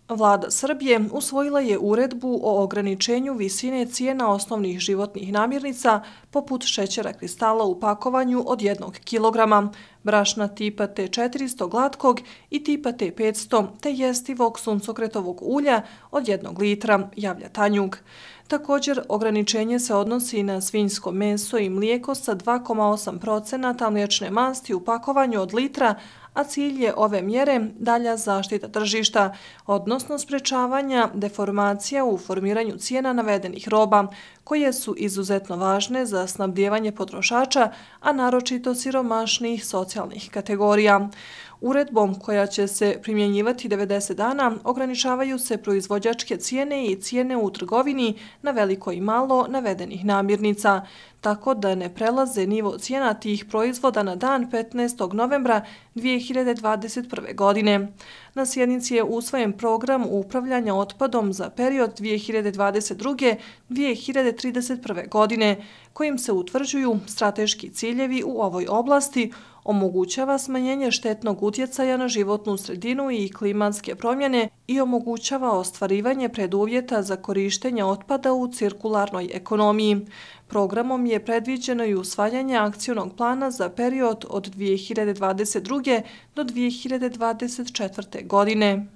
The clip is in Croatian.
Vlada Srbije usvojila je uredbu o ograničenju visine cijena osnovnih životnih namirnica poput šećera kristala u pakovanju od 1 kilograma, brašna tipa T400 glatkog i tipa T500 te jestivog suncokretovog ulja od 1 litra, javlja Tanjug. Također, ograničenje se odnosi na svinjsko meso i mlijeko sa 2,8% mliječne masti u pakovanju od litra, a cilj je ove mjere dalja zaštita tržišta, odnosno sprečavanja deformacija u formiranju cijena navedenih roba, koje su izuzetno važne za snabdijevanje potrošača, a naročito siromašnijih socijalnih kategorija. Uredbom koja će se primjenjivati 90 dana ograničavaju se proizvođačke cijene i cijene u trgovini na veliko i malo navedenih namirnica, tako da ne prelaze nivo cijena tih proizvoda na dan 15. novembra 2021. godine. Na sjednici je usvojen program upravljanja otpadom za period 2022-2031. godine, kojim se utvrđuju strateški ciljevi u ovoj oblasti, omogućava smanjenje štetnog utjecaja na životnu sredinu i klimatske promjene i omogućava ostvarivanje preduvjeta za korištenje otpada u cirkularnoj ekonomiji. Programom je predviđeno i usvajanje akcionog plana za period od 2022. do 2024. godine.